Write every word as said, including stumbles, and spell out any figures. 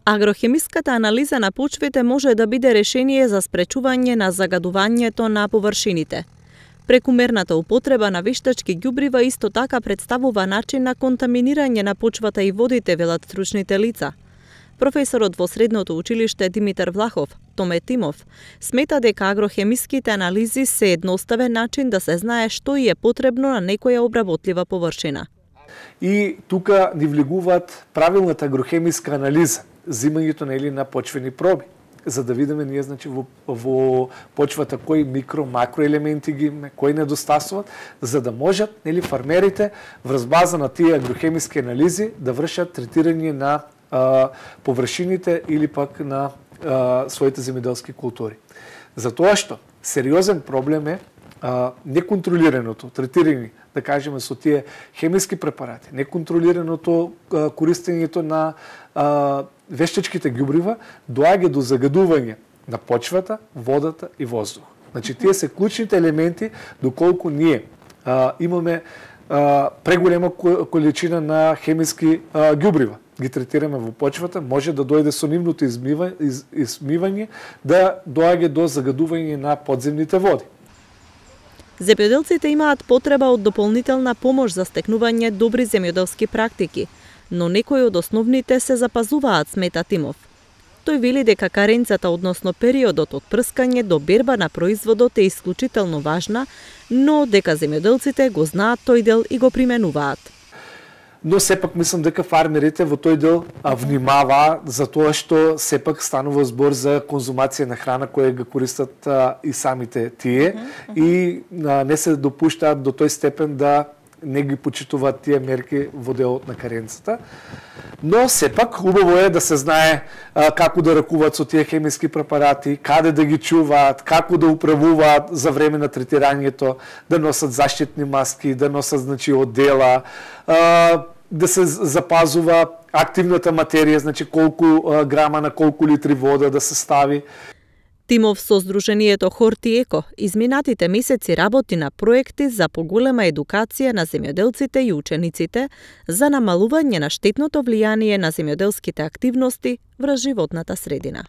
Агрохемиската анализа на почвите може да биде решение за спречување на загадувањето на површините. Прекумерната употреба на вештачки ѓубрива исто така представува начин на контаминирање на почвата и водите, велат стручните лица. Професорот во Средното училиште Димитар Влахов, Томе Тимов, смета дека агрохемиските анализи се едноставен начин да се знае што и е потребно на некоја обработлива површина. И тука ни влегуваат правилната агрохемиска анализа, зимањето нели на почвени проби, за да видиме ние значи во, во почвата кои микро, макро елементи ги имаме, кои недостасуваат, за да можат нели фармерите врз база на тие агрохемиски анализи да вршат третирање на а, површините или пак на а, своите земјоделски култури. Затоа што сериозен проблем е а, неконтролираното третирање, да кажеме со тие хемиски препарати, неконтролираното а, користењето на а, вештачките ѓубрива доаѓа до загадување на почвата, водата и воздух. Значи тие се клучните елементи доколку ние а, имаме а, преголема количина на хемиски а, ѓубрива ги третираме во почвата, може да дојде со нивното измива, из, измивање да доаѓа до загадување на подземните води. Земјоделците имаат потреба од дополнителна помош за стекнување добри земјоделски практики, но некои од основните се запазуваат, смета Тимов. Тој вели дека каренцата, односно периодот од прскање до берба на производот е исклучително важна, но дека земјоделците го знаат тој дел и го применуваат. Но сепак мислам дека фармерите во тој дел а, внимава за тоа што сепак станува збор за конзумација на храна која го користат а, и самите тие uh -huh. и а, не се допуштаат до тој степен да не ги почитуваат тие мерки во делот на каренцата. Но сепак убаво е да се знае а, како да ракуваат со тие хемиски препарати, каде да ги чуваат, како да управуваат за време на третирањето, да носат заштитни маски, да носат значи одела, а, да се запазува активната материја, значи колку а, грама на колку литри вода да се стави. Тимов со Сдруженијето Хорти Еко изминатите месеци работи на проекти за поголема едукација на земјоделците и учениците за намалување на штетното влијание на земјоделските активности врз животната средина.